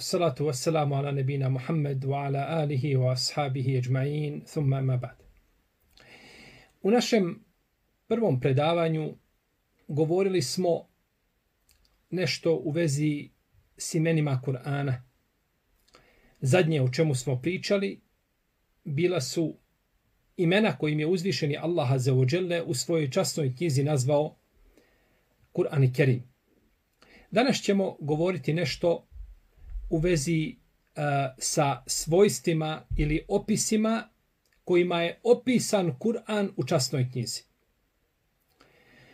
Salatu wassalamu ala nebina Muhammed wa ala alihi wa ashabihi ajma'in, thumma ma ba'd. U našem prvom predavanju govorili smo nešto u vezi s imenima Kur'ana. Zadnje o čemu smo pričali bila su imena kojim je uzvišeni Allah azza wa jalla u svojoj časnoj knjizi nazvao Kur'an Kerim. Danas ćemo govoriti nešto u vezi sa svojstvima ili opisima kojima je opisan Kur'an u časnoj knjizi.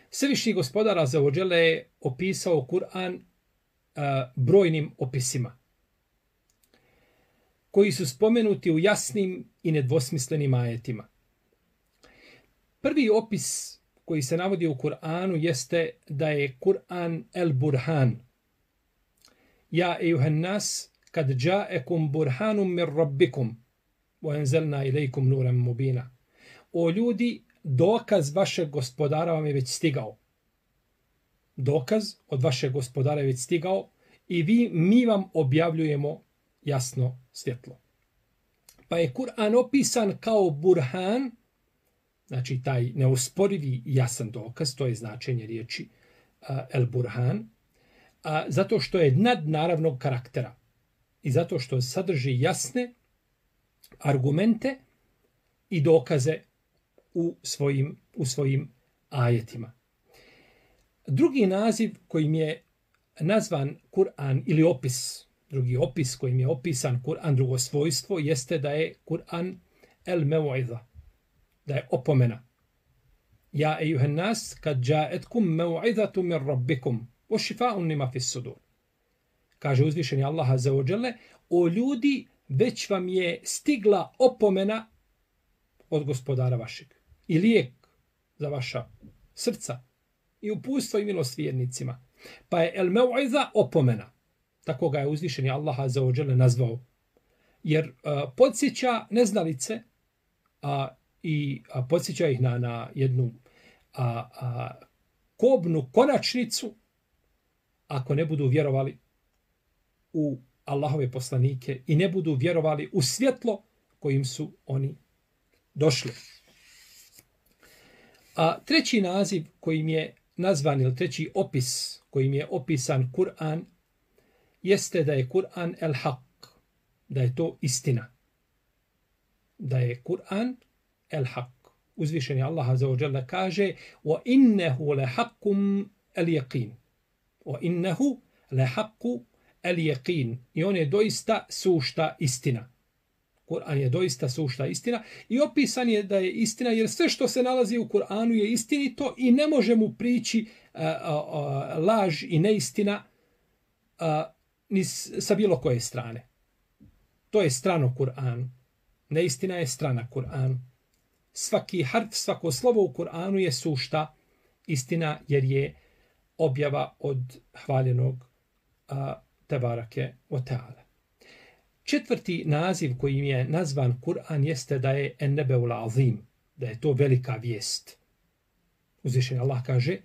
Svevišnji gospodar azza wa jalla je opisao Kur'an brojnim opisima koji su spomenuti u jasnim i nedvosmislenim ajetima. Prvi opis koji se navodi u Kur'anu jeste da je Kur'an el Burhan. Ja ejuhan nas kad džaekum burhanum mir rabbikum wa enzelna ilaikum nuran mubina. O ljudi, dokaz vašeg gospodara vam je već stigao. Dokaz od vašeg gospodara je već stigao i mi vam objavljujemo jasno svjetlo. Pa je Kur'an opisan kao burhan, znači taj neusporivi jasan dokaz, to je značenje riječi el burhan, zato što je nadnaravnog karaktera i zato što sadrži jasne argumente i dokaze u svojim ajetima. Drugi naziv kojim je nazvan Kur'an ili opis, drugi opis kojim je opisan Kur'an, drugo svojstvo, jeste da je Kur'an el mev'iza, da je opomena. Ja ejuhan nas kad džaetkum mev'izatu mir rabbikum wa šifa'un lima fis sudur. Kaže uzvišeni Allah azza wa jalla, o ljudi, već vam je stigla opomena od gospodara vašeg i lijek za vaša srca i uputstvo i milost vjernicima. Pa je el mev'iza opomena. Tako ga je uzvišeni Allah azza wa jalla nazvao. Jer podsjeća neznalice i podsjeća ih na jednu kobnu konačnicu ako ne budu vjerovali u Allahove poslanike i ne budu vjerovali u svjetlo kojim su oni došli. Treći naziv kojim je nazvan, ili treći opis kojim je opisan Kur'an, jeste da je Kur'an el haq, da je to istina. Da je Kur'an el haq. Uzvišeni Allah azza wa jalla kaže wa innehu le haqqum el yaqin. Wa innehu le haqqu el yaqin. I on je doista sušta istina. Kur'an je doista sušta istina i opisan je da je istina, jer sve što se nalazi u Kur'anu je istinito i ne može mu prići laž i neistina ni sa bilo koje strane. To je strano Kur'anu. Neistina je strana Kur'anu. Svaki harf, svako slovo u Kur'anu je sušta istina, jer je objava od hvaljenog Tebarake wa ta'ala. Četvrti naziv kojim je nazvan Kur'an jeste da je en-nebeul azim, da je to velika vijest. Uzvišeni Allah kaže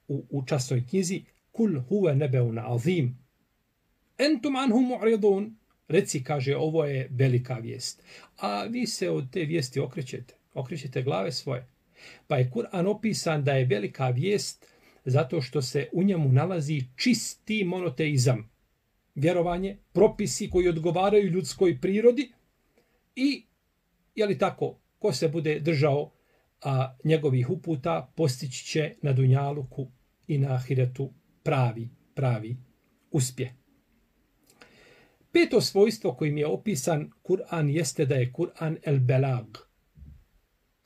u časnoj knjizi kul huve nebeun azim entum anhu mu'ridun. Reci, kaže, ovo je velika vijest. A vi se od te vijesti okrećete glave svoje. Pa je Kur'an opisan da je velika vijest zato što se u njemu nalazi čisti monoteizam. Vjerovanje, propisi koji odgovaraju ljudskoj prirodi i, je li tako, ko se bude držao njegovih uputa, postići će na dunjaluku i na ahiretu pravi uspjeh. Peto svojstvo kojim je opisan Kur'an jeste da je Kur'an el belag.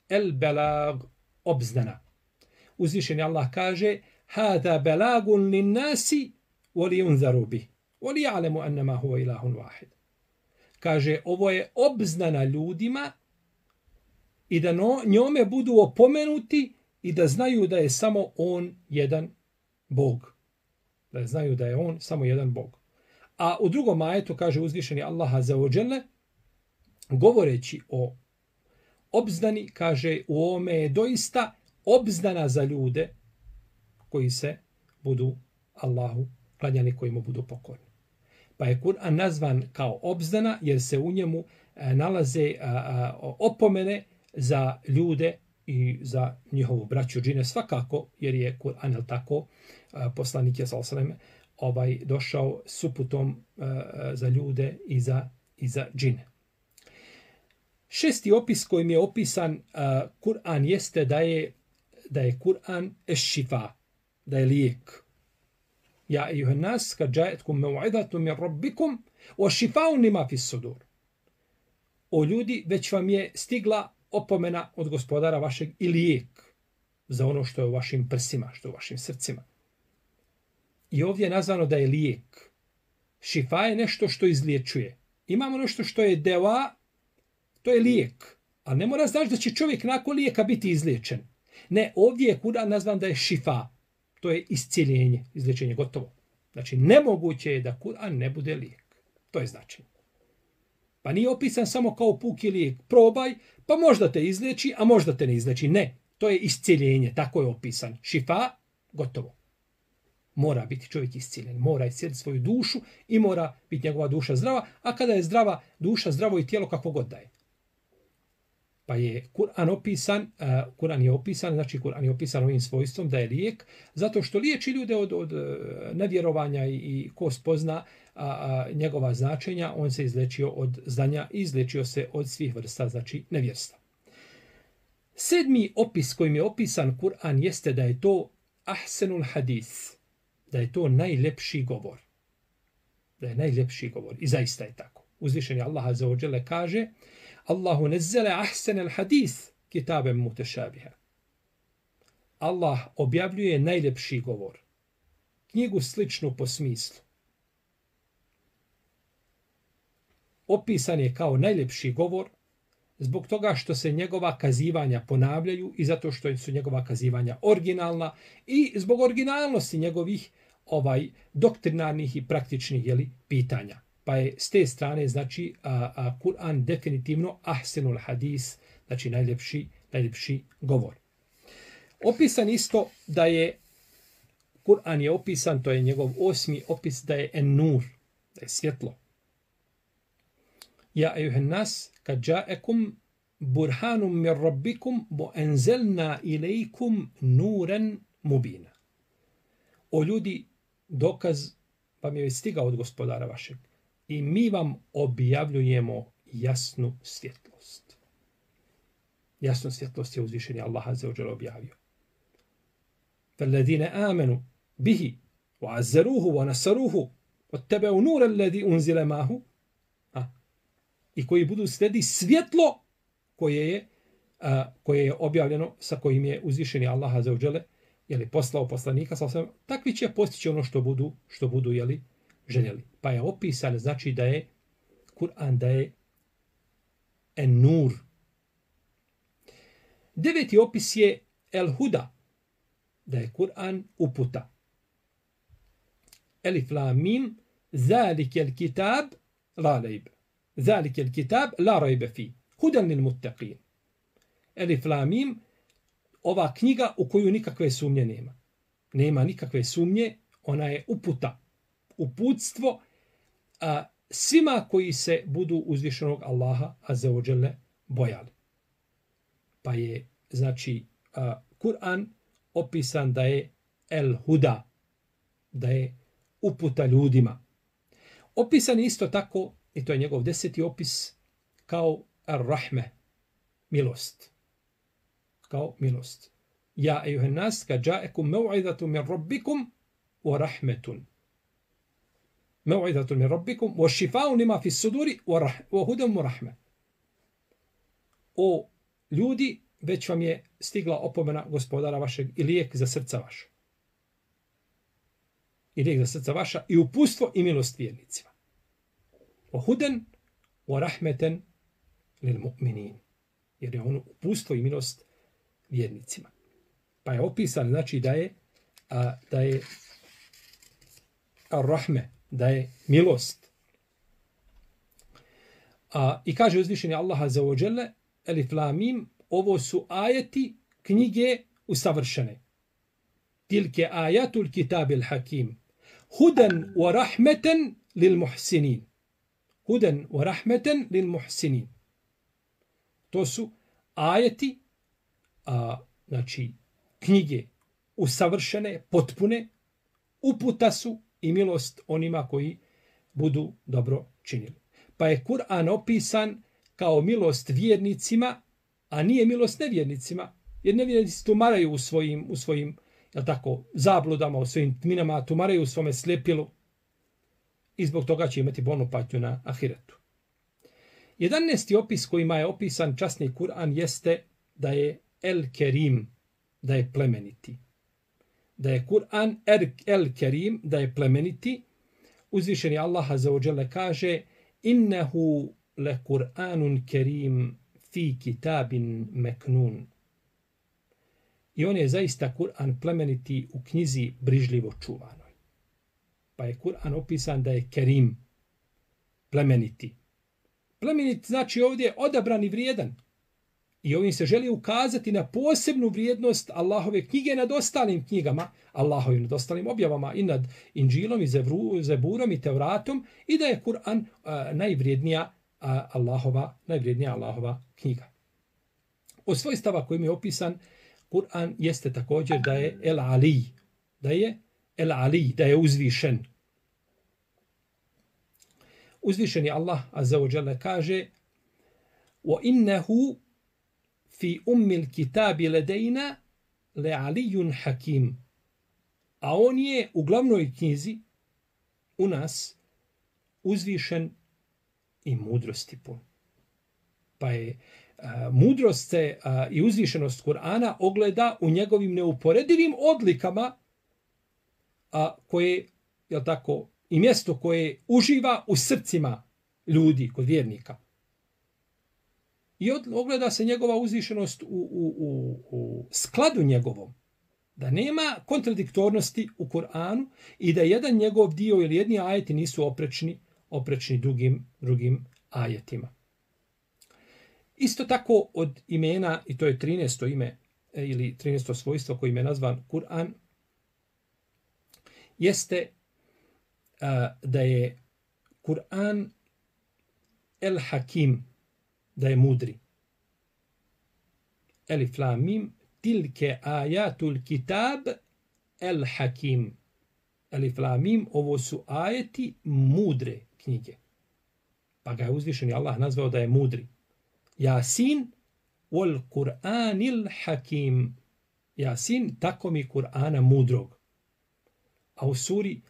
El belag, obznana. Uzvišeni Allah kaže hada belagun lin nasi wa liyunzaru bih wa liya'lamu annama huwa ilahun wahid. Kaže, ovo je obznana ljudima i da njome budu opomenuti i da znaju da je samo on jedan Bog. Da znaju da je on samo jedan Bog. A u drugom ajetu kaže uzvišeni Allah azza wa jalla, govoreći o obznani, kaže u ovome je doista obznana za ljude koji se budu Allahu klanjali, koji mu budu pokorni. Pa je Kur'an nazvan kao obzdana jer se u njemu nalaze opomene za ljude i za njihovu braću džine svakako, jer je Kur'an, jel tako, poslanik je došao s uputom za ljude i za džine. Šesti opis kojim je opisan Kur'an jeste da je Kur'an eš-šifa, da je lijek. Ja ejuhan nas, kad džajetkum mev'idatu min rabbikum, wa šifa'un lima fis sudur. O ljudi, već vam je stigla opomena od gospodara vašeg i lijek za ono što je u vašim prsima, što je u vašim srcima. I ovdje je nazvano da je lijek. Šifa je nešto što izliječuje. Imamo nešto što je deva, to je lijek. Ali ne mora znaš da će čovjek nakon lijeka biti izliječen. Ne, ovdje je Kur'an nazvan da je šifa. To je iscijeljenje, izliječenje, gotovo. Znači, nemoguće je da Kur'an ne bude lijek. To je značenje. Pa nije opisan samo kao puki lijek. Probaj, pa možda te izliječi, a možda te ne izliječi. Ne, to je iscijeljenje, tako je opisan. Šifa, gotovo. Mora biti čovjek iscijeljen, mora iscijeliti svoju dušu i mora biti njegova duša zdrava, a kada je zdrava duša, zdravo i tijelo kako god da je. Pa je Kur'an opisan, znači Kur'an je opisan ovim svojstvom da je lijek, zato što liječi ljude od nevjerovanja i ko spozna njegova značenja, on se izlečio od znanja i izlečio se od svih vrsta, znači nevjerstva. Sedmi opis kojim je opisan Kur'an jeste da je to ahsenul hadis, da je to najljepši govor. Da je najljepši govor. I zaista je tako. Uzvišeni Allah azza wa jalla kaže Allahu nezzele ahsenel hadis kitabem mutešabiha. Allah objavljuje najljepši govor. Knjigu sličnu po smislu. Opisan je kao najljepši govor zbog toga što se njegova kazivanja ponavljaju i zato što su njegova kazivanja originalna i zbog originalnosti njegovih doktrinarnih i praktičnih pitanja. Pa je s te strane, znači, Kur'an definitivno ahsenul hadis, znači najljepši govor. Opisan isto da je, Kur'an je opisan, to je njegov 8. opis, da je en-nur, da je svjetlo. Ja ejuhen nas, kad džaekum burhanum mir rabbikum, bo enzelna ilaikum nuren mubina. O ljudi, dokaz vam je stigao od gospodara vašeg. I mi vam objavljujemo jasnu svjetlost. Jasnu svjetlost je uzvišeni Allah azza wa jalla objavio. فَالَّذِينَ آمَنُوا بِهِ وَعَزَّرُوهُ وَنَصَرُوهُ وَاتَّبَعُوا نُورَ الَّذِي أُنزِلَ مَعَهُ. I koji budu slijedi svjetlo koje je objavljeno, sa kojim je uzvišeni Allah azza wa jalla poslao poslanika, takvi će postići ono što budu željeli. Pa je opisan, znači da je Kur'an, da je en-nur. 9. opis je el-huda, da je Kur'an uputa. Elif lam mim, zalikel kitab la rajb. Zalikel kitab la rajbe fi. Hudan lil muttaqin. Elif lam mim, ova knjiga u koju nikakve sumnje nema. Nema nikakve sumnje, ona je uputa. Uputstvo svima koji se budu uzvišenog Allaha azza wa jalla bojali. Pa je, znači, Kur'an opisan da je el-huda, da je uputa ljudima. Opisan je isto tako, i to je njegov 10. opis, kao ar-rahme, milost. Kao milost. Ja ejuhen nas, kad džaekum mev'idatu min rabbikum wa rahmetun. Mev'idatu min rabbikum wa šifa'un lima fis suduri wa hudan wa rahme. O ljudi, već vam je stigla opomena gospodara vašeg i lijek za srca vaša. I lijek za srca vaša i upustvo i milost vjernicima. Wa hudan wa rahmeten lil mu'minin. Jer je ono upustvo i milost vjernicima. Pa je opisan, znači da je ar-rahme, da je milost. I kaže uzvišeni Allah azza wa jalla, elif lam mim, ovo su ajeti knjige usavršene. Tilke ajatul kitabil hakim. Hudan wa rahmeten lil muhsinin. Huden wa rahmeten lil muhsinin. To su ajeti, znači knjige usavršene, potpune, uputa su i milost onima koji budu dobro činili. Pa je Kur'an opisan kao milost vjernicima, a nije milost nevjernicima, jer nevjernici tumaraju u svojim jel tako, zabludama, u svojim tminama, tumaraju u svome slijepilu i zbog toga će imati bolnu patnju na ahiretu. 11. opis kojima je opisan časni Kur'an jeste da je El Kerim, da je plemeniti. Da je Kur'an El Kerim, da je plemeniti. Uzvišeni Allah azza wa jalla kaže innehu le Kur'anun kerim fi kitabin meknun. I on je zaista Kur'an plemeniti u knjizi brižljivo čuvanoj. Pa je Kur'an opisan da je kerim, plemeniti. Plemenit znači ovdje odabran i vrijedan. I ovim se želi ukazati na posebnu vrijednost Allahove knjige nad ostalim knjigama, Allahovim nad ostalim objavama i nad Inđilom i Zeburom i Tevratom i da je Kur'an najvrijednija Allahova knjiga. Od svojstava kojim je opisan Kur'an jeste također da je El Ali, da je uzvišen. Uzvišeni Allah azza wa jalla kaže wa innehu fi ummil kitabi ledejna le alijun hakim. A on je u glavnoj knjizi u nas uzvišen i mudrosti pun. Pa je mudrost i uzvišenost Kur'ana ogleda u njegovim neuporedivim odlikama koje, jel tako, i mjesto koje uživa u srcima ljudi, kod vjernika. I ogleda se njegova uzvišenost u skladu njegovom. Da nema kontradiktornosti u Kur'anu i da jedan njegov dio ili jedni ajeti nisu oprečni drugim ajetima. Isto tako od imena, i to je 13. ime ili 13. svojstvo kojim je nazvan Kur'an, jeste da je Kur'an El Hakim, da je mudri. Elif lam mim tilke ajatul kitab El Hakim. Elif lam mim, ovo su ajeti mudre knjige. Pa ga je uzvišeni Allah nazvao da je mudri. Jasin wal Kur'anil Hakim. Jasin, tako mi Kur'ana mudrog. A u suri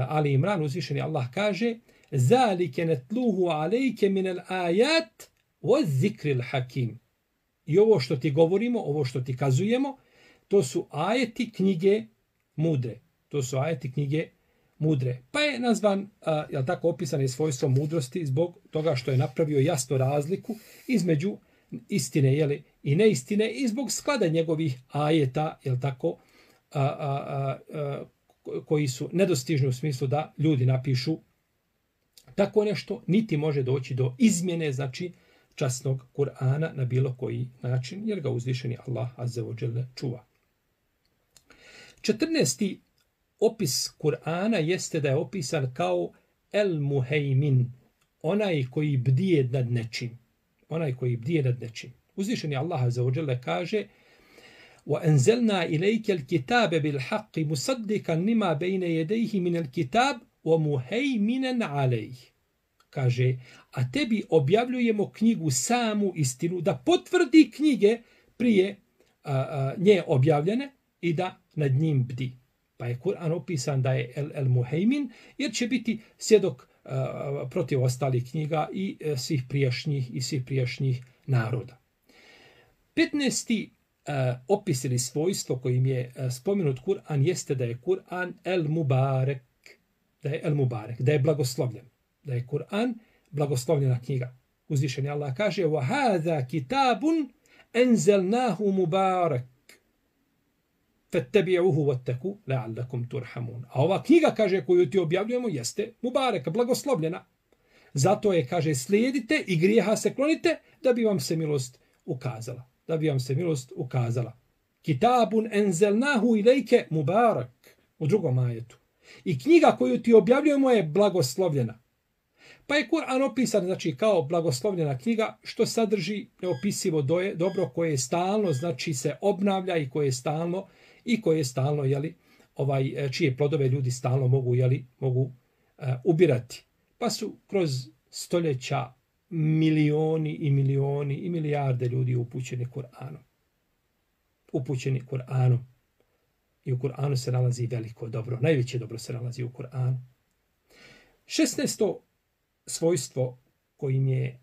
Ali Imran uzvišeni Allah kaže zalike netluhu alejke minel ajat wa zikril hakim. I ovo što ti govorimo, ovo što ti kazujemo, to su ajeti knjige mudre. To su ajeti knjige mudre. Pa je nazvan, jel tako, opisan je svojstvo mudrosti zbog toga što je napravio jasnu razliku između istine i neistine i zbog sklada njegovih ajeta, jel tako, koji su nedostižni u smislu da ljudi napišu tako nešto, niti može doći do izmjene, znači, časnog Kur'ana na bilo koji način, jer ga uzvišeni Allah azza wa jalla čuva. 14. opis Kur'ana jeste da je opisan kao El Muhejmin, onaj koji bdije nad nečim. Onaj koji bdije nad nečim. Uzvišeni Allah azza wa jalla kaže وَأَنْزَلْنَا إِلَيْكَ الْكِتَابَ بِالْحَقِّ مُصَدِّقًا لِمَا بَيْنَ يَدَيْهِ مِنَ الْكِتَابِ وَمُهَيْمِنًا عَلَيْهِ. Kaže, a tebi objavljujemo knjigu samu istinu, da potvrdi knjige prije nje objavljene i da nad njim bdi. Pa je Kur'an opisan da je El Muhejmin, jer će biti svjedok protiv ostalih knjiga i svih prijašnjih naroda. 15. opis ili svojstvo kojim je spomenut Kur'an jeste da je Kur'an El Mubarek, da je blagoslovljen, da je Kur'an blagoslovljena knjiga. Uzvišeni Allah kaže وَهَذَا كِتَابٌ أَنْزَلْنَاهُ مُبَارَكٌ فَاتَّبِعُوهُ وَاتَّقُوا لَعَلَّكُمْ تُرْحَمُونَ. A ova knjiga, kaže, koju ti objavljujemo, jeste Mubarek, blagoslovljena. Zato je, kaže, slijedite i grijeha se klonite da bi vam se milost ukazala. Kitabun enzelnahu ilejke mubarak. U drugom ajetu. I knjiga koju ti objavljujemo je blagoslovljena. Pa je Kur'an opisan, znači, kao blagoslovljena knjiga, što sadrži neopisivo dobro koje je stalno, znači, se obnavlja i koje je stalno, jeli, čije plodove ljudi stalno mogu, ubirati. Pa su kroz stoljeća milioni i milioni i milijarde ljudi upućeni Kur'anom. Upućeni Kur'anom. I u Kur'anu se nalazi veliko dobro. Najveće dobro se nalazi u Kur'anu. 16. svojstvo kojim je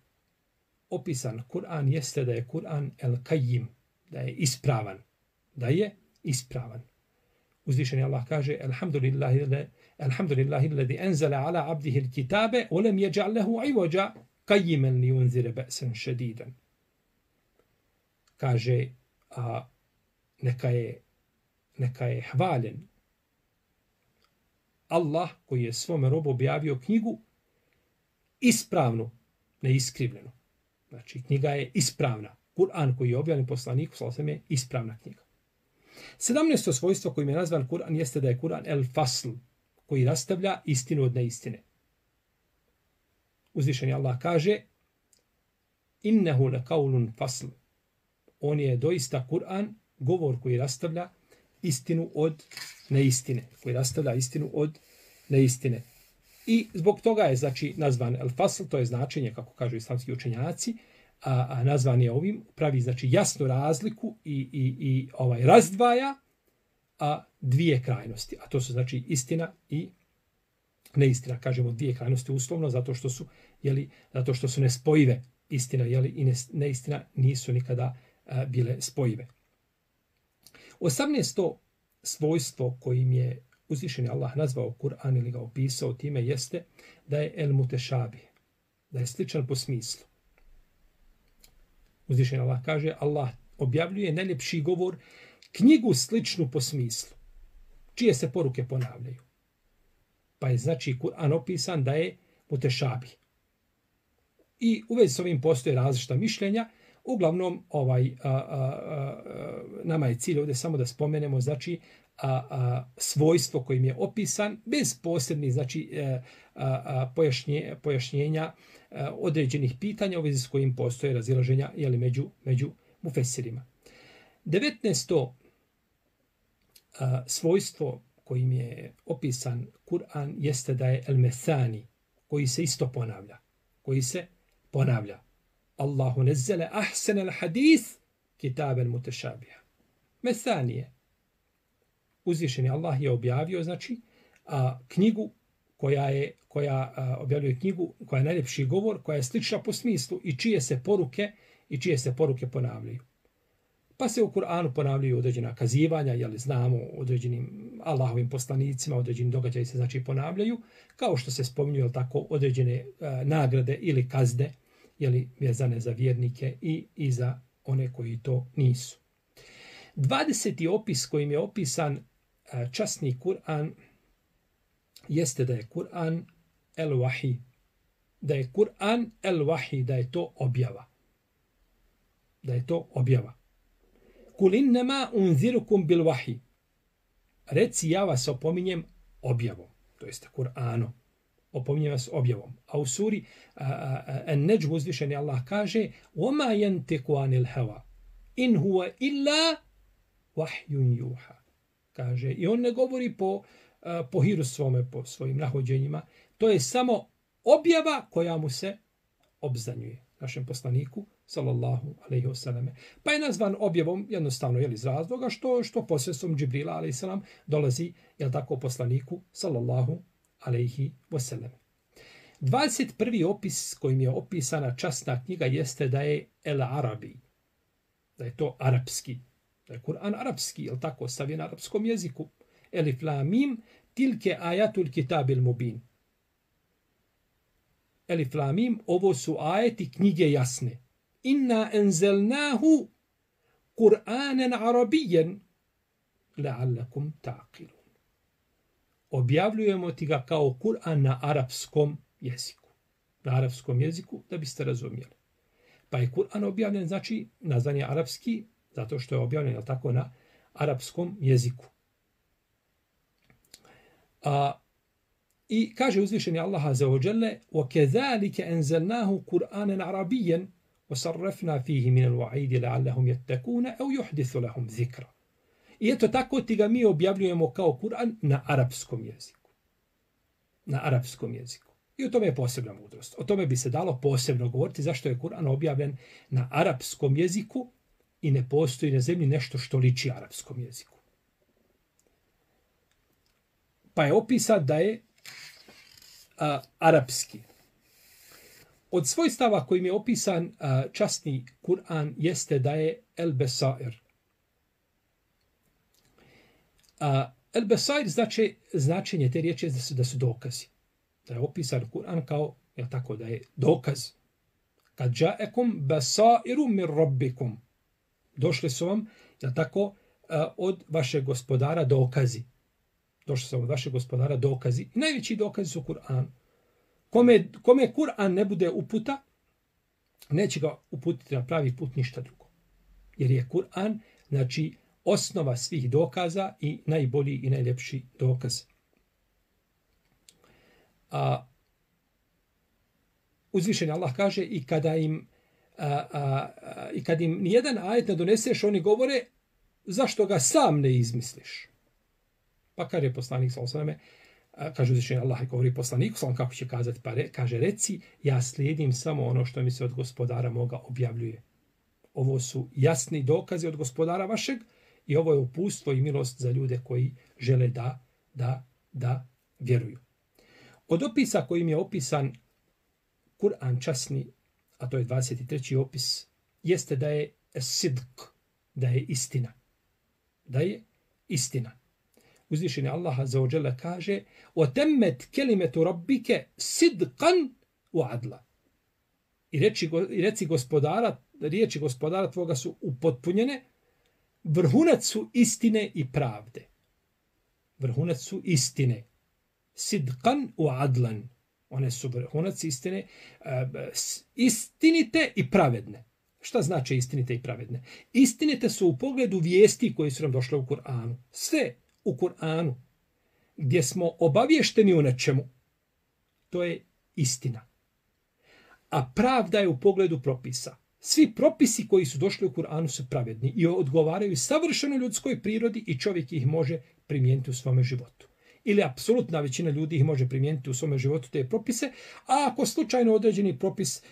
opisan Kur'an jeste da je Kur'an el-Kajim, da je ispravan. Da je ispravan. Uzvišeni Allah kaže Alhamdulillahi alladhi anzala ala abdihi al-kitabe wa lam yaj'al lahu 'iwaja qayyiman liyunzira ba'san shadidan. Kaže neka je hvaljen Allah koji je svome robu objavio knjigu ispravnu, neiskrivljenu. Znači, knjiga je ispravna. Kur'an koji je objavljen poslaniku sallallahu alejhi ve sellem je ispravna knjiga. 17. svojstvo kojim je nazvan Kur'an jeste da je Kur'an el-Fasl, koji rastavlja istinu od neistine. Uzvišeni Allah kaže Innehu lekaulun fasl. On je doista Kur'an, govor koji rastavlja istinu od neistine. Koji rastavlja istinu od neistine. I zbog toga je, znači, nazvan el-Fasl, to je značenje, kako kažu islamski učenjaci, a nazvan je ovim, pravi, znači, jasnu razliku i razdvaja dvije krajnosti. A to su, znači, istina i neistina. Kažemo dvije krajnosti uslovno, zato što su nespojive. Istina, i neistina nisu nikada bile spojive. 18. svojstvo kojim je uzvišeni Allah nazvao Kur'an ili ga opisao time jeste da je el mutešabih, da je sličan po smislu. Uzvišeni Allah kaže Allah objavljuje najljepši govor, knjigu sličnu po smislu, čije se poruke ponavljaju. Pa je, znači, Kur'an opisan da je mutešabih. I u vezi s ovim postoje različita mišljenja. Uglavnom, nama je cilj ovdje samo da spomenemo, znači, svojstvo kojim je opisan, bez posebnih, znači, pojašnjenja određenih pitanja u vezi s kojim postoje razilaženja među mufesirima. 19. svojstvo kojim je opisan Kur'an jeste da je el-Mesani, koji se isto ponavlja. Allahu nezzele ahsen al-hadith kitaben mutešabija. Mesanije. Uzvišeni Allah je objavio, znači, knjigu koja objavljuje knjigu, koja je najljepši govor, koja je slična po smislu i čije se poruke ponavljaju. Pa se u Kur'anu ponavljaju određena kazivanja, znamo određenim Allahovim poslanicima, određeni događaji se, znači, ponavljaju, kao što se spominju, tako, određene nagrade ili kazne, vezane za vjernike i za one koji to nisu. 20. opis kojim je opisan časni Kur'an jeste da je Kur'an el-Wahi. Da je Kur'an el-Wahi, da je to objava. Kul innama unzirukum bil wahi. Reci, ja vas opominjem objavom, to jeste Kur'anom. Opominjem vas objavom. A u suri An-Najm uzvišeni Allah kaže وَمَا يَنْتِقُ عَنِ الْهَوَى إِنْ هُوَ إِلَّا وَحْيٌ يُوحَى. Kaže, i on ne govori po hiru svome, po svojim nahođenjima. To je samo objava koja mu se obznanjuje, našem poslaniku, sallallahu alejhi ve selleme. Pa je nazvan objavom jednostavno iz razloga što posredstvom Džibrila alejhi selam dolazi tako poslaniku sallallahu alejhi ve selleme. 21. opis kojim je opisana časna knjiga jeste da je el-Arabi, da je to arapski, da je Kur'an arapski, tako, stavljen na arapskom jeziku. Elif lam mim tilke ayatul kitabil mubin. Elif lam mim, ovo su ajeti knjige jasne. Inna enzelnahu Kur'anen arabijen la'allakum ta'qilun. Objavljujemo ti ga kao Kur'an na arapskom jeziku. Na arapskom jeziku, da biste razumjeli. Pa je Kur'an objavljen, znači, nazvan je arapski, zato što je objavljen tako na arapskom jeziku. I kaže uzvišeni Allah azza wa jalla: وَكَذَلِكَ أَنزَلْنَاهُ قُرْآنًا عَرَبِيًّا وَصَرَّفْنَا فِيهِ مِنَ الْوَعِيدِ لَعَلَّهُمْ يَتَّقُونَ أَوْ يُحْدِثُ لَهُمْ ذِكْرًا. I eto tako ti ga mi objavljujemo kao Kur'an na arapskom jeziku. Na arapskom jeziku. I o tome je posebna mudrost. O tome bi se dalo posebno govoriti zašto je Kur'an objavljen na arapskom jeziku i ne postoji na zemlji nešto što liči arapskom jeziku. Pa je opisan da je arapski. Od svojstava kojim je opisan časni Kur'an jeste da je el-besair. El-besair značenje te riječi je da su dokazi. Da je opisan Kur'an kao, je tako, da je dokaz. Kad ja'akum basairu min rabbikum. Došli su vam, je tako, od vašeg gospodara dokazi. Došli su vam od vašeg gospodara dokazi. I najveći dokazi su Kur'an. Kome Kur'an ne bude uputa, neće ga uputiti na pravi put ništa drugo. Jer je Kur'an, znači, osnova svih dokaza i najbolji i najljepši dokaz. Uzvišeni Allah kaže i kada im nijedan ajet ne doneseš, oni govore zašto ga sam ne izmisliš. Pa kaže poslanik sallallahu alejhi ve selleme, kaže uzvišeni Allah i govori poslaniku sallallahu kako će kazati, pa kaže reci ja slijedim samo ono što mi se od gospodara moga objavljuje. Ovo su jasni dokazi od gospodara vašeg i ovo je uputstvo i milost za ljude koji žele da vjeruju. Od opisa kojim je opisan Kur'an časni, a to je 23. opis, jeste da je sidq, da je istina. Da je istina. Uzvišeni Allah azza wa jalla kaže: "Otemmet kelimatu rabbike sidqan wa adla." I reci gospodara, riječi gospodara tvoga su upotpunjene, vrhunac su istine i pravde. Vrhunac su istine. Sidqan wa adlan. One su vrhunac istine, istinite i pravedne. Šta znači istinite i pravedne? Istinite su u pogledu vijesti koje su nam došle u Kur'anu. Sve u Kur'anu gdje smo obavješteni u nečemu, to je istina. A pravda je u pogledu propisa. Svi propisi koji su došli u Kur'anu su pravedni i odgovaraju savršeno ljudskoj prirodi i čovjek ih može primijeniti u svome životu. Ili apsolutna većina ljudi ih može primijeniti u svome životu te propise, a ako slučajno određeni propis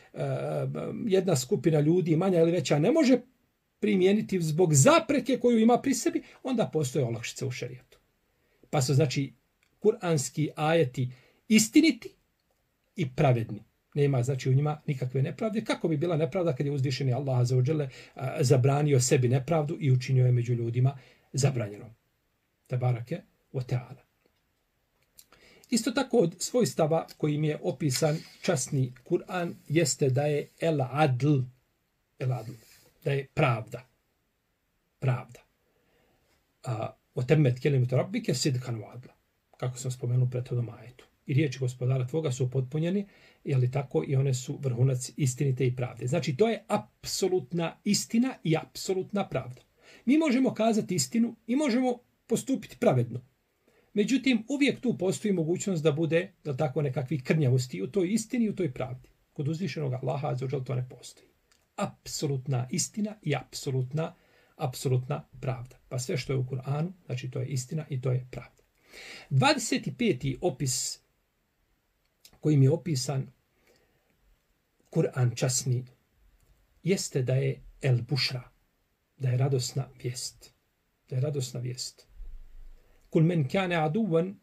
jedna skupina ljudi, manja ili veća, ne može primijeniti zbog zapreke koju ima pri sebi, onda postoje olakšice u šerijatu. Pa su znači kuranski ajeti istiniti i pravedni. Nema znači u njima nikakve nepravde. Kako bi bila nepravda kad je uzvišeni Allah azza wa jalla zabranio sebi nepravdu i učinio je među ljudima zabranjenom. Tebarake wa ta'ala. Isto tako od svojstava kojim je opisan časni Kur'an jeste da je el-adl, da je pravda. Pravda. Otemmet kelimatu rabbike sidqan wa adla. Kako sam spomenuo u prethodnom ajetu. I riječi gospodara tvoga su potpunjeni, jeli tako, i one su vrhunac istinite i pravde. Znači, to je apsolutna istina i apsolutna pravda. Mi možemo kazati istinu i možemo postupiti pravedno. Međutim, uvijek tu postoji mogućnost da bude, da tako, nekakvih krnjavosti u toj istini i u toj pravdi. Kod uzvišenog Allaha azza wa jalla to ne postoji. Apsolutna istina i apsolutna pravda. Pa sve što je u Kur'anu, znači to je istina i to je pravda. 25. opis kojim je opisan Kur'an časni jeste da je el bušra, da je radosna vijest. Da je radosna vijest. Kul men kane aduvan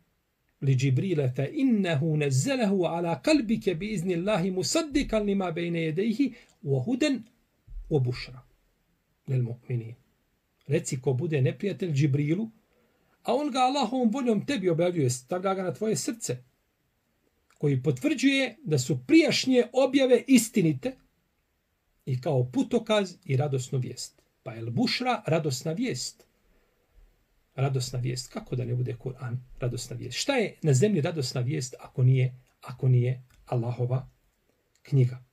li Džibrile fa innehu nezelehu ala kalbike bi izni Allahi musaddikan lima bejne jedejhi wa huden wa bušra. Lel mu'minin. Reci ko bude neprijatelj Džibrilu, a on ga Allahovom voljom tebi objavljuje, stavlja ga na tvoje srce, koji potvrđuje da su prijašnje objave istinite i kao putokaz i radosnu vijest. Pa el bušra, radosna vijest. Radosna vijest. Kako da ne bude Kur'an radosna vijest? Šta je na zemlji radosna vijest ako nije Allahova knjiga?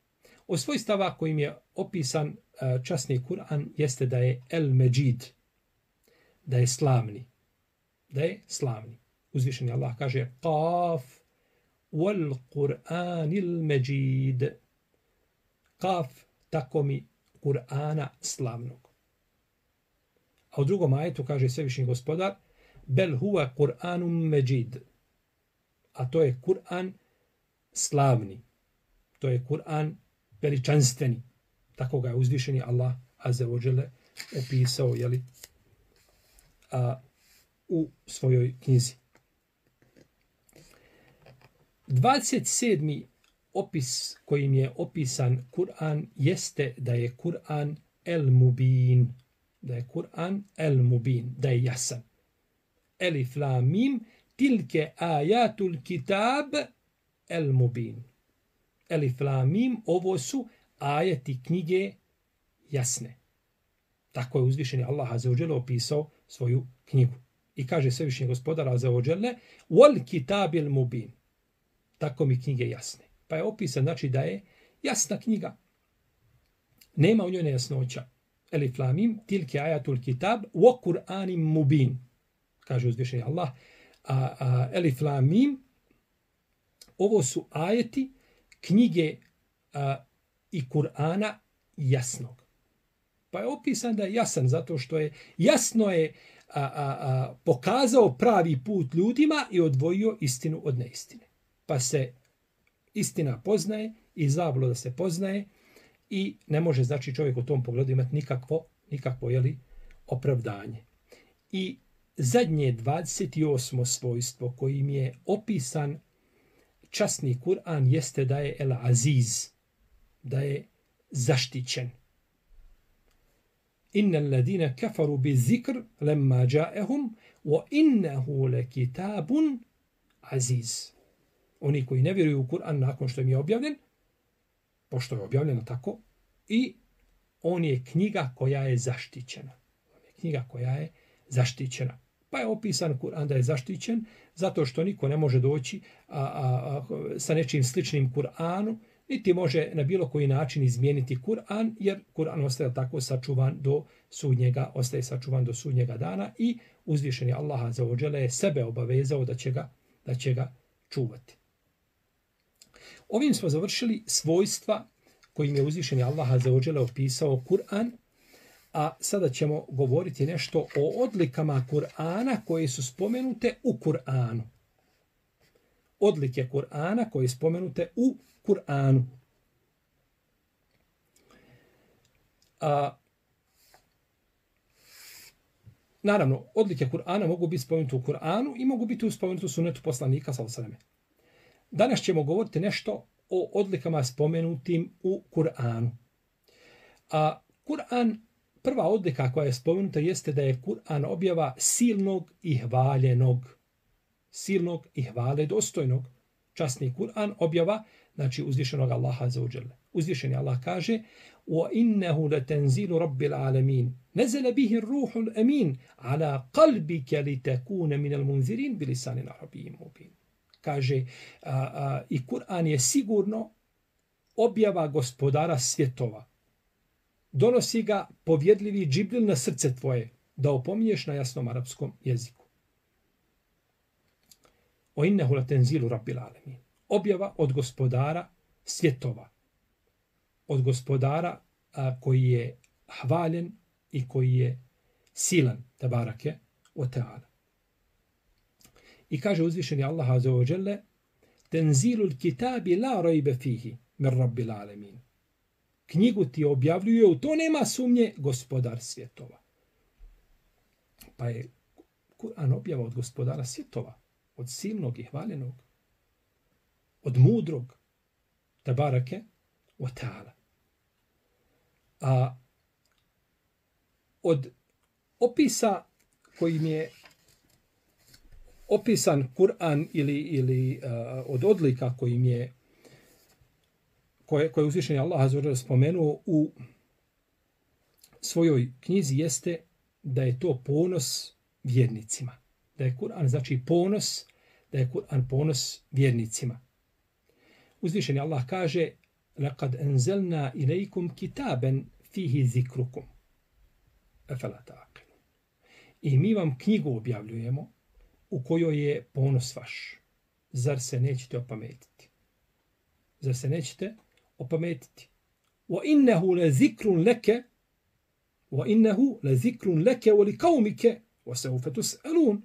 Od svojstava kojim je opisan časni Kur'an jeste da je el međid, da je slavni. Da je slavni. Uzvišeni Allah kaže Qaf wal Qur'anil Majid. Qaf, tako mi Kur'ana slavnog. A u drugom ajetu kaže Svevišnji Gospodar Bel huwa Qur'anum Majid. A to je Kur'an slavni. To je Kur'an veličanstveni. Tako ga je uzvišeni Allah azza wa jalla opisao u svojoj knjizi. 27. opis kojim je opisan Kur'an jeste da je Kur'an el-mubin. Da je Kur'an el-mubin, da je jasan. Elif lam mim tilke ajatul kitab el-mubin. Elif lam mim, ovo su ajeti knjige jasne. Tako je uzvišeni Allah azza wa jalla opisao svoju knjigu. I kaže Svevišnji Gospodar azza wa jalla wal kitabil mubin. Tako mi knjige jasne. Pa je opisan, znači da je jasna knjiga. Nema u njoj nejasnoća. Elif lam mim tilke ajatul kitab wa Qur'anim mubin. Kaže uzvišeni Allah. Elif lam mim, ovo su ajeti knjige i Kur'ana jasnog. Pa je opisan da je jasan zato što je jasno je pokazao pravi put ljudima i odvojio istinu od neistine. Pa se istina poznaje i zabluda se poznaje i ne može znači čovjek u tom pogledu imati nikakvo opravdanje. I zadnje 28. svojstvo kojim je opisan časni Kur'an jeste da je el-aziz, da je zaštićen. Innal ladina kafaru bizikr lamma ja'ahum wa innahu lakitabun aziz. Oni koji ne vjeruju u Kur'an nakon što im je objavljen, pošto je objavljeno tako, i on je knjiga koja je zaštićena. On je knjiga koja je zaštićena. Pa je opisan Kur'an da je zaštićen zato što niko ne može doći sa nečim sličnim Kur'anu, niti može na bilo koji način izmijeniti Kur'an, jer Kur'an ostaje tako sačuvan ostaje sačuvan do sudnjega dana i uzvišeni Allah azza wa dželle je sebe obavezao da će ga čuvati. Ovim smo završili svojstva kojim je uzvišeni Allah azza wa dželle opisao Kur'an, a sada ćemo govoriti nešto o odlikama Kur'ana koje su spomenute u Kur'anu. Odlike Kur'ana koje su spomenute u Kur'anu. Naravno, odlike Kur'ana mogu biti spomenute u Kur'anu i mogu biti spomenute u sunnetu poslanika sallallahu alejhi ve selleme. Danas ćemo govoriti nešto o odlikama spomenutim u Kur'anu. Kur'an, prva odlika koja je spomenuta jeste da je Kur'an objava silnog i hvaljenog. Silnog i hvale dostojnog. Časni Kur'an objava, znači uzvišenog Allaha azza wa dželle. Uzvišeni Allah kaže: "Wa innahu latanzilu rabbil alamin. Nazala bihi ar-ruhul amin ala qalbika litakuna minal munzirin bilisanin arabiyyin mubin." Kaže, i Kur'an je sigurno objava gospodara svjetova. Donosi ga povjedljivi Džibril na srce tvoje, da opominješ na jasnom arapskom jeziku. O innehu latenzilu rabbil alamin. Objava od gospodara svjetova. Od gospodara koji je hvaljen i koji je silan, tabarake wa ta'ala. I kaže uzvišeni Allah azza wa jalla: "Tenzilul kitabi la rayba fihi min rabbil alamin." Knjigu ti objavljuje, u to nema sumnje, gospodar svjetova. Pa je Kur'an objava od gospodara svjetova, od silnog i hvaljenog, od mudrog, tabarake wa ta'ala. Od opisa kojim je opisan Kur'an ili od odlika kojim je koje uzvišeni Allah azza wa dželle spomenuo u svojoj knjizi jeste da je to ponos vjernicima. Da je Kur'an znači ponos, da je Kur'an ponos vjernicima. Uzvišeni Allah kaže: "Laqad anzalna ilaykum kitaban fihi zikrukum." Afala ta'qilun. I mi vam knjigu objavljujemo u kojoj je ponos vaš. Zar se nećete opametiti? Zar se nećete opametiti? وَإِنَّهُ لَذِكْرٌ لَكَ وَلِقَوْمِكَ وَسَوْفَ تُسْأَلُونَ.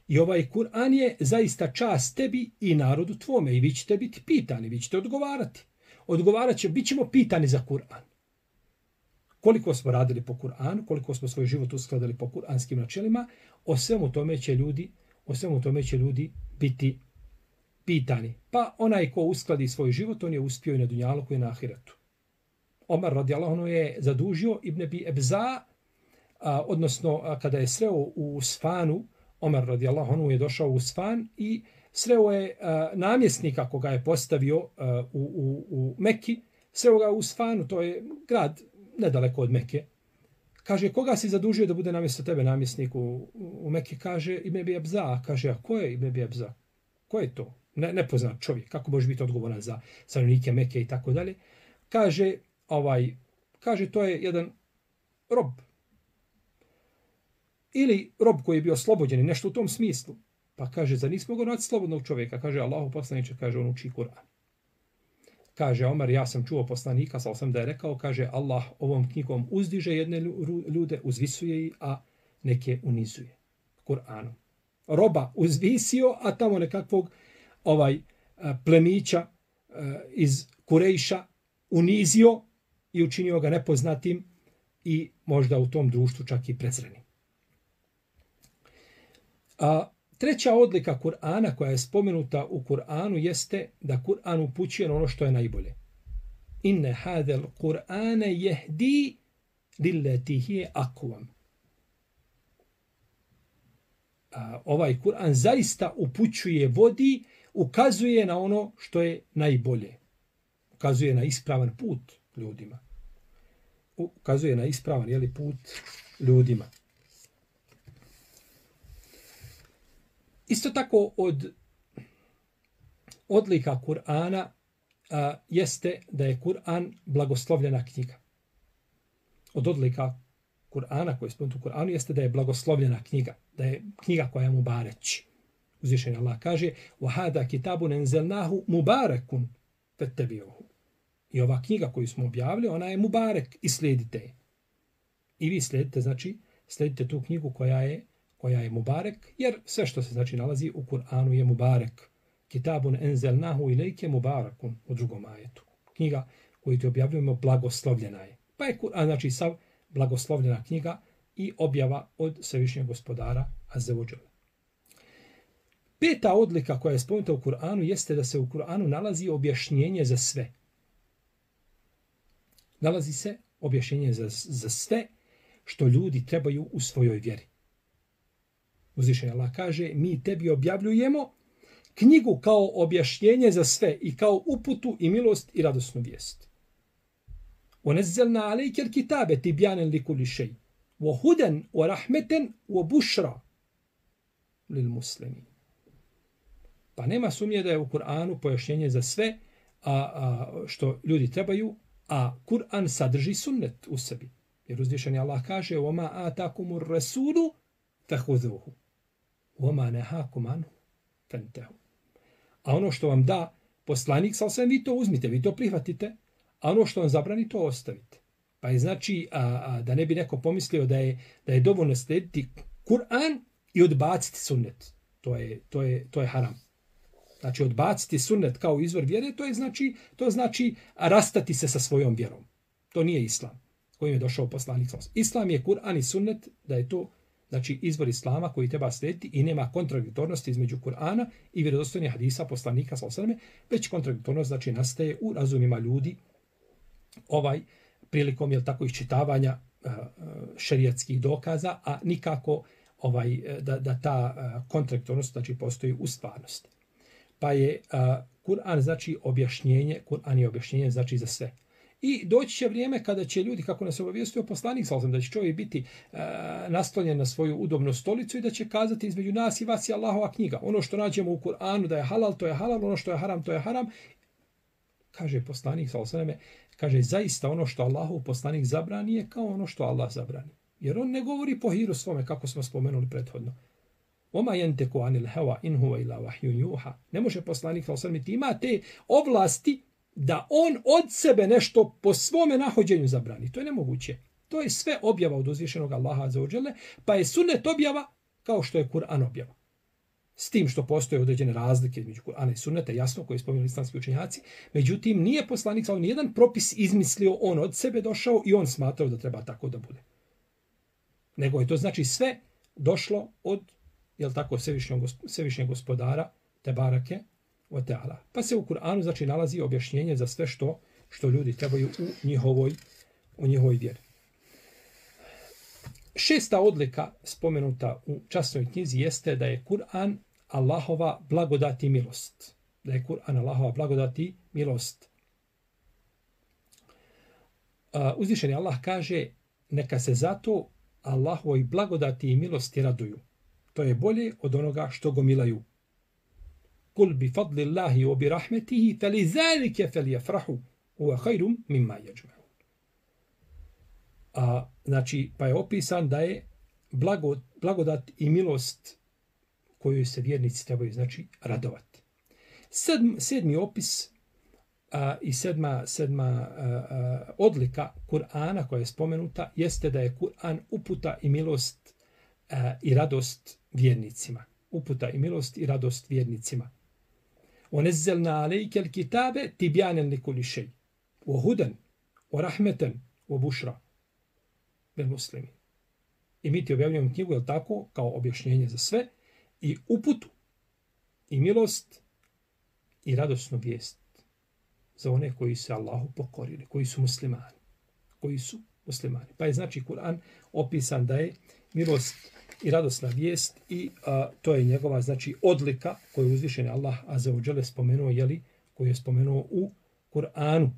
I ovaj Kur'an je zaista čast tebi i narodu tvome i vi ćete biti pitani, vi ćete odgovarati. Bit ćemo pitani za Kur'an. Koliko smo radili po Kur'anu, koliko smo svoj život uskladili po kur'anskim načelima, o svemu tome će ljudi biti pitani. Pa onaj ko uskladi svoj život, on je uspio i na dunjaluku i na ahiretu. Omar radijallahu anhu je zadužio Ibn Abi Ebza, odnosno kada je sreo u Usfanu, Omar radijallahu anhu je došao u Usfan i sreo je namjesnika koga je postavio u Mekki, sreo ga u Usfanu, to je grad nedaleko od Mekke. Kaže, koga si zadužio da bude namjesto tebe namjesnik u Mekke? Kaže, Ibn Abi Ebza. Kaže, a ko je Ibn Abi Ebza? Ko je to? Nepoznat čovjek. Kako može biti odgovoran za stanovnike Mekke i tako dalje? Kaže, to je jedan rob. Ili rob koji je bio oslobođen i nešto u tom smislu. Pa kaže, za nismo ga naći slobodnog čovjeka. Kaže, Allahu poslaniče, kaže, on uči Kur'an. Kaže, Omar, ja sam čuo poslanika, sam da je rekao, kaže, Allah ovom knjigom uzdiže jedne ljude, uzvisuje ih, a neke unizuje. Kur'anom. Roba uzvisio, a tamo nekakvog plemića iz Kurejša unizio i učinio ga nepoznatim i možda u tom društvu čak i prezrenim. Treća odlika Kur'ana koja je spomenuta u Kur'anu jeste da Kur'an upućuje na ono što je najbolje. Inne hadel Kur'ane jehdi lilleti hiye akvam. Ovaj Kur'an zaista upućuje, vodi, ukazuje na ono što je najbolje. Ukazuje na ispravan put ljudima. Ukazuje na ispravan put ljudima. Isto tako od odlika Kur'ana jeste da je Kur'an blagoslovljena knjiga. Od odlika Kur'ana koji je spomenuto u Kur'anu jeste da je blagoslovljena knjiga, da je knjiga koja je mubareć. Uzvišeni Allah kaže: "Wa kitabun anzalnahu mubarakun fattabi'uhu." I ova knjiga koju smo objavili, ona je mubarek i slijedite je. I vi slijedite, znači slijedite tu knjigu koja je mubarek, jer sve što se znači nalazi u Kur'anu je mubarek. Kitabun anzalnahu ilayke mubarakun u drugom ajetu. Knjiga koju ti objavljujemo blagoslovljena je. Pa je Kur'an znači sav blagoslovljena knjiga i objava od Svevišnjeg Gospodara Azza wa Jalla. Peta odlika koja je spomenuta u Kur'anu jeste da se u Kur'anu nalazi objašnjenje za sve. Nalazi se objašnjenje za sve što ljudi trebaju u svojoj vjeri. Uzvišeni Allah kaže: mi tebi objavljujemo knjigu kao objašnjenje za sve i kao uputu i milost i radosnu vijest. وَنَزَّلْنَا عَلَيْكَ الْكِتَابَ تِبْيَانًا لِكُلِّ شَيْءٍ وَهُدًى وَرَحْمَةً وَبُشْرًا لِلْمُسْلِمِينَ. Pa nema sumnje da je u Kur'anu pojašnjenje za sve što ljudi trebaju, a Kur'an sadrži sunnet u sebi. Jer uzvišeni Allah kaže: وَمَا آتَاكُمُ الرَّسُولُ فَخُذُوهُ وَمَا نَهَاكُمْ عَنْهُ فَانْتَهُوا. A ono što vam da poslanik, vi to uzmite, vi to prihvatite, a ono što vam zabrani, to ostavite. Pa je znači, da ne bi neko pomislio da je dovoljno slijediti Kur'an i odbaciti sunnet. To je haram. Znači, odbaciti sunnet kao izvor vjere, to znači rastati se sa svojom vjerom. To nije islam kojim je došao poslanik. Islam je Kur'an i sunnet, da je to znači izvor islama koji treba slijediti i nema kontradiktornosti između Kur'ana i vjerodostojnih hadisa poslanika već kontradiktornost znači nastaje u razumima ljudi prilikom iščitavanja šerijatskih dokaza, a nikako da ta kontradiktornost znači postoji u stvarnosti. Pa je Kur'an znači objašnjenje, Kur'an je objašnjenje znači za sve. I doći će vrijeme kada će ljudi, kako nas obavijestio poslanik, da će čovjek biti naslonjen na svoju udobnu stolicu i da će kazati: između nas i vas je Allahova knjiga. Ono što nađemo u Kur'anu da je halal, to je halal, ono što je haram, to je haram. Kaže poslanik, kaže, zaista ono što Allahov poslanik zabrani je kao ono što Allah zabrani. Jer on ne govori po hiru svome, kako smo spomenuli prethodno. Oma jenteku anil hewa in huwa ila vahyun juha. Ne može poslanik sallallahu ima te ovlasti da on od sebe nešto po svome nahođenju zabrani. To je nemoguće. To je sve objava od uzvišenog Allaha azza wa dželle, pa je sunnet objava kao što je Kur'an objava. S tim što postoje određene razlike između Kur'ana i sunneta, jasno, koje spominjali islamski učenjaci. Međutim, nije poslanik sallallahu nijedan propis izmislio, on od sebe došao i on smatrao da treba tako da bude. Nego je to znači sve došlo od, jel tako, Svevišnjeg gospodara, Tebarake wa Teala. Pa se u Kur'anu znači nalazi objašnjenje za sve što ljudi trebaju u njihovoj vjeri. 6. odlika spomenuta u časnoj knjizi jeste da je Kur'an Allahova blagodat i milost. Da je Kur'an Allahova blagodat i milost. Uzvišeni Allah kaže, neka se zato Allahovoj blagodati i milosti raduju. To je bolje od onoga što gomilaju. Kul bi fadlillahi wa bi rahmetihi falizalike falyafrahu huwa khairum mimma yajma'un. Znači, pa je opisan da je blagodat i milost koju se vjernici trebaju, znači, radovati. Sedmi opis i sedma odlika Kur'ana koja je spomenuta jeste da je Kur'an uputa i milost i radost vjernicima. Uputa i milost i radost vjernicima. وَنَزَّلْنَا عَلَيْكَ الْكِتَابَ تِبْيَانًا لِكُلِّ شَيْءٍ وَهُدًى وَرَحْمَةً وَبُشْرًا لِلْمُسْلِمِينَ. I mi ti objavljujemo knjigu, je tako, kao objašnjenje za sve, i uputu, i milost, i radosnu vijest za one koji se Allahu pokorili, koji su muslimani. Pa je znači Kur'an opisan da je milost i radosna vijest i to je njegova znači odlika koju je uzvišeni Allah azza wa dželle spomenuo, koju je spomenuo u Kur'anu.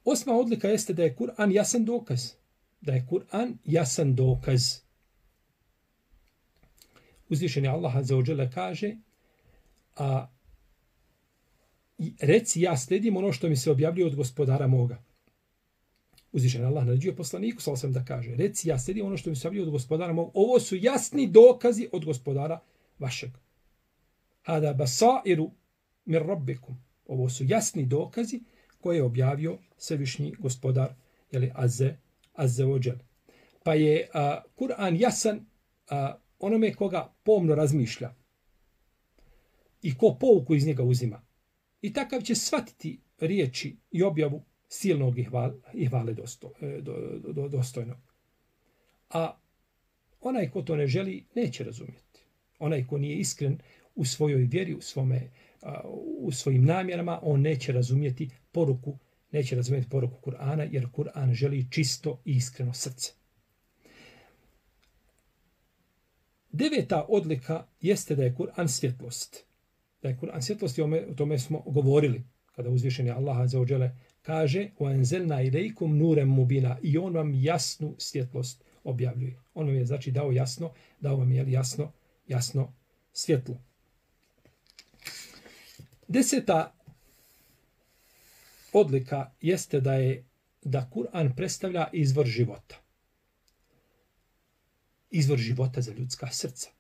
8. odlika jeste da je Kur'an jasan dokaz. Da je Kur'an jasan dokaz. Uzvišeni Allah azza wa dželle kaže, reci, ja slijedim ono što mi se objavljuje od gospodara moga. Uzvišen Allah naređuje poslaniku sallallahu da kaže, reci, ja slijedim ono što mi se objavljuje od gospodara moga. Ovo su jasni dokazi od gospodara vašeg. Hada basairu mir rabbikum. Ovo su jasni dokazi koje je objavio svevišnji gospodar, azze wa džel. Pa je Kur'an jasan onome koga pomno razmišlja i ko pouku iz njega uzima. I takav će shvatiti riječi i objavu silnog i hvale dostojnog. A onaj ko to ne želi, neće razumjeti. Onaj ko nije iskren u svojoj vjeri, u svojim namjerama, on neće razumjeti poruku Kur'ana, jer Kur'an želi čisto i iskreno srce. 9. odlika jeste da je Kur'an svjetlost. Da je Kur'an svjetlost, i o tome smo govorili, kada uzvišeni Allah azza wa dželle kaže وَاَنْزَلْنَا إِلَيْكُمْ نُورًا مُبِينًا, i on vam jasnu svjetlost objavljuje. On vam je znači dao vam je jasno svjetlo. 10. odlika jeste da Kur'an predstavlja izvor života. Izvor života za ljudska srca,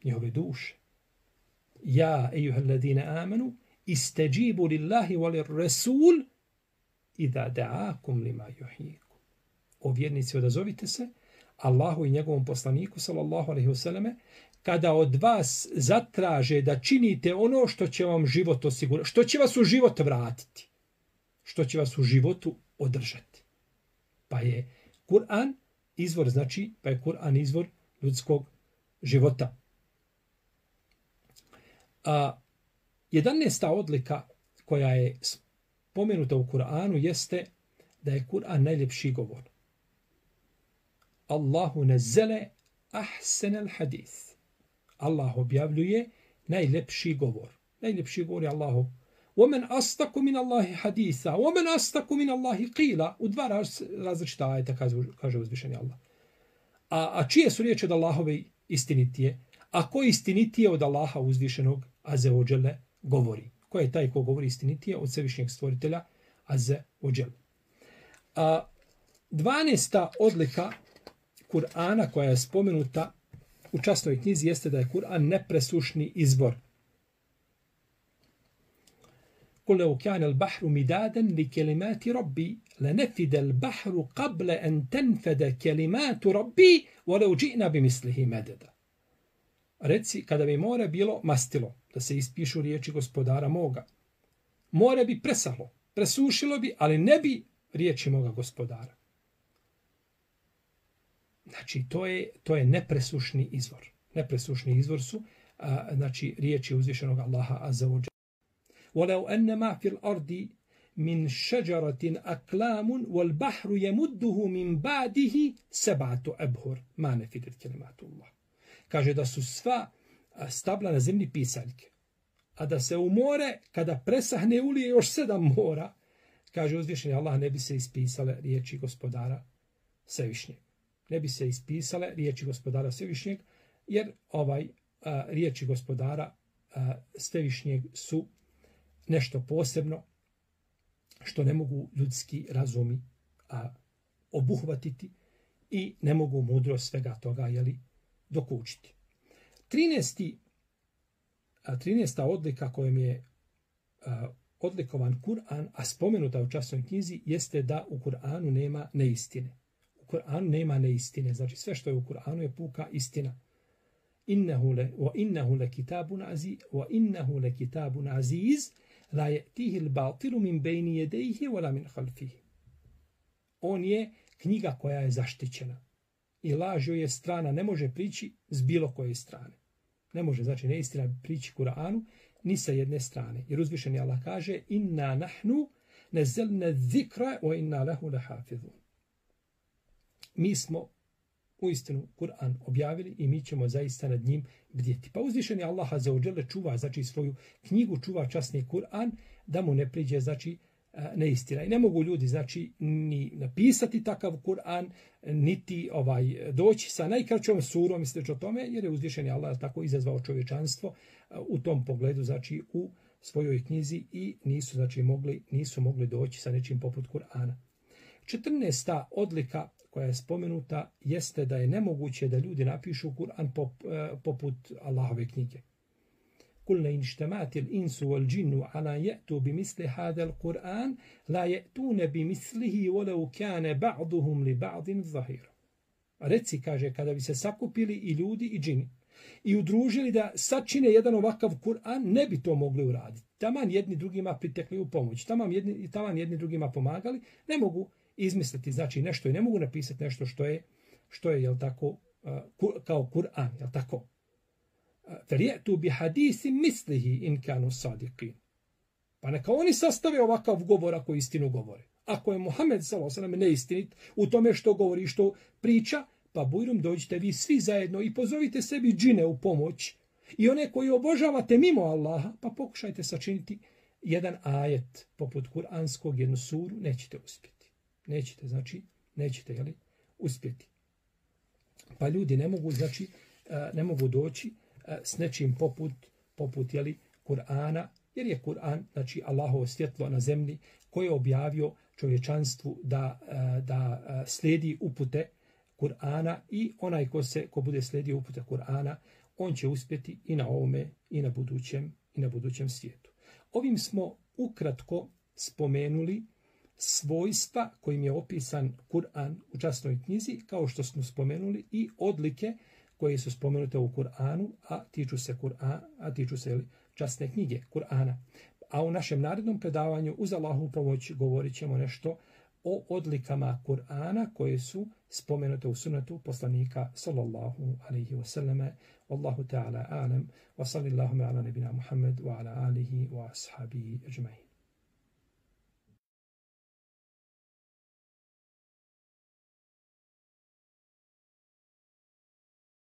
njihove duše. Ja, ejuhel ladine amanu, isteđibu lillahi wali rasul idha da'akum lima yuhyikum. O vjernici, odazovite se Allahu i njegovom poslaniku sallallahu alejhi ve selleme kada od vas zatraže da činite ono što će vam život osigurati, što će vas u život vratiti, što će vas u životu održati. Pa je Kur'an izvor ljudskog života. 11. odlika koja je spomenuta u Kur'anu jeste da je Kur'an najljepši govor. Allahu nazzala ahsanal hadith. Allah objavljuje najljepši govor. Najljepši govor je Allahov. وَمَنْ أَصْدَقُ مِنَ اللَّهِ حَدِيثًا وَمَنْ أَصْدَقُ مِنَ اللَّهِ قِيلًا. U dva različita ajeta kaže uzvišeni Allah. A čije su riječi od Allahove istinitije? A ko istinitije od Allaha uzvišenog azze wa dželle govori? Ko je taj ko govori istinitije od svevišnjeg stvoritelja azze wa dželle? 12. odlika Kur'ana koja je spomenuta u časnoj knjizi jeste da je Kur'an nepresušni izbor. قل لو كان البحر مدادا لكلمات ربي لنفد البحر قبل أن تنفد كلمات ربي ولو جئنا بمثله مددا. Reci, kada bi more bilo mastilo, da se ispišu riječi gospodara moga, more bi presahlo, presušilo bi, ali ne bi riječi moga gospodara. Znači, to je nepresušni izvor. Nepresušni izvor su znači, riječi uzvišenog Allaha azza wa jalla. وَلَوْ أَنَّمَا فِي الْأَرْضِ مِنْ شَجَرَةٍ أَكْلَامٌ وَالْبَحْرُ يَمُدُّهُ مِنْ بَعْدِهِ سَبْعَةُ أَبْهُرٍ مَا نَفِدَتْ كَلِمَاتُ اللَّهِ. Kaže da su sva stabla na zemlji pisaljke, a da se u more, kada presahne, ulije još 7 mora, kaže uzvišeni Allah, ne bi se ispisale riječi gospodara Svevišnjeg. Ne bi se ispisale riječi gospodara Svevišnjeg, jer riječi gospodara Svevišnjeg su nešto posebno što ne mogu ljudski razumi obuhvatiti i ne mogu mudro svega toga dokučiti. 13. odlika kojom je odlikovan Kur'an, a spomenuta u časnoj knjizi, jeste da u Kur'anu nema neistine. U Kur'anu nema neistine, znači sve što je u Kur'anu je puka istina. وَإِنَّهُ لَكِتَابٌ عَزِيزٌ لَا يَأْتِيهِ الْبَاطِلُ مِنْ بَيْنِ يَدَيْهِ وَلَا مِنْ خَلْفِهِ. On je knjiga koja je zaštićena i laž joj je strana, ne može prići s bilo koje strane. Ne može, znači neistina prići Kur'anu ni sa jedne strane. Jer uzvišeni Allah kaže: "Inna nahnu nazzalna dhikra wa inna lahu lahafizun." Mi smo uistinu Kur'an objavili i mi ćemo zaista nad njim bdjeti. Pa uzvišeni Allah azza wa jalla čuva, znači svoju knjigu, čuva časni Kur'an, da mu ne priđe, znači, neistina. I ne mogu ljudi, znači, ni napisati takav Kur'an, niti doći sa najkraćom surom i slično tome, jer je uzvišeni Allah tako izazvao čovječanstvo u tom pogledu, znači, u svojoj knjizi i nisu mogli doći sa nečim poput Kur'ana. 14. odlika koja je spomenuta jeste da je nemoguće da ljudi napišu Kur'an poput Allahove knjige. قُلْنَ إِنْشْتَمَاتِ الْإِنْسُ وَالْجِنُّ عَلَا يَأْتُوا بِمِثْلِ هَذَا الْقُرْآنِ لَا يَأْتُونَ بِمِثْلِهِ وَلَوْ كَانَ بَعْضُهُمْ لِبَعْضٍ ظَهِيرًا. Reci, kaže, kada bi se sakupili i ljudi i džini i udružili da sačine jedan ovakav Kur'an, ne bi to mogli uraditi. Taman jedni drugima pritekli u pomoć, taman jedni drugima pomagali, ne mogu izmisliti, znači, nešto i ne mogu napisati nešto što je jel tako, kao Kur'an, jel tako? فَلْيَأْتُوا بِحَدِيثٍ مِثْلِهِ إِنْ كَانُوا صَادِقِينَ. Pa neka oni sastave ovakav govor ako istinu govore. Ako je Muhammed s.a.v. neistinit u tome što govori, što priča, pa bujrum dođite vi svi zajedno i pozovite sebi džine u pomoć i one koji obožavate mimo Allaha, pa pokušajte sačiniti jedan ajet poput kuranskog, jednu suru, nećete uspjeti. Nećete uspjeti. Pa ljudi ne mogu doći s nečim poput Kur'ana, jer je Kur'an, znači, Allahovo svjetlo na zemlji koje je objavio čovječanstvu da slijedi upute Kur'ana i onaj ko bude slijedio upute Kur'ana, on će uspjeti i na ovome i na budućem svijetu. Ovim smo ukratko spomenuli svojstva kojim je opisan Kur'an u časnoj knjizi, kao što smo spomenuli i odlike koje su spomenute u Kur'anu, a tiču se časne knjige Kur'ana. A u našem narednom predavanju uz Allahovu pomoć govorit ćemo nešto o odlikama Kur'ana koje su spomenute u sunnetu poslanika sallallahu alaihi wa sallame. Wallahu ta'ala a'lam wa sallallahu ala nabina Muhammad wa ala alihi wa ashabihi ajma'in.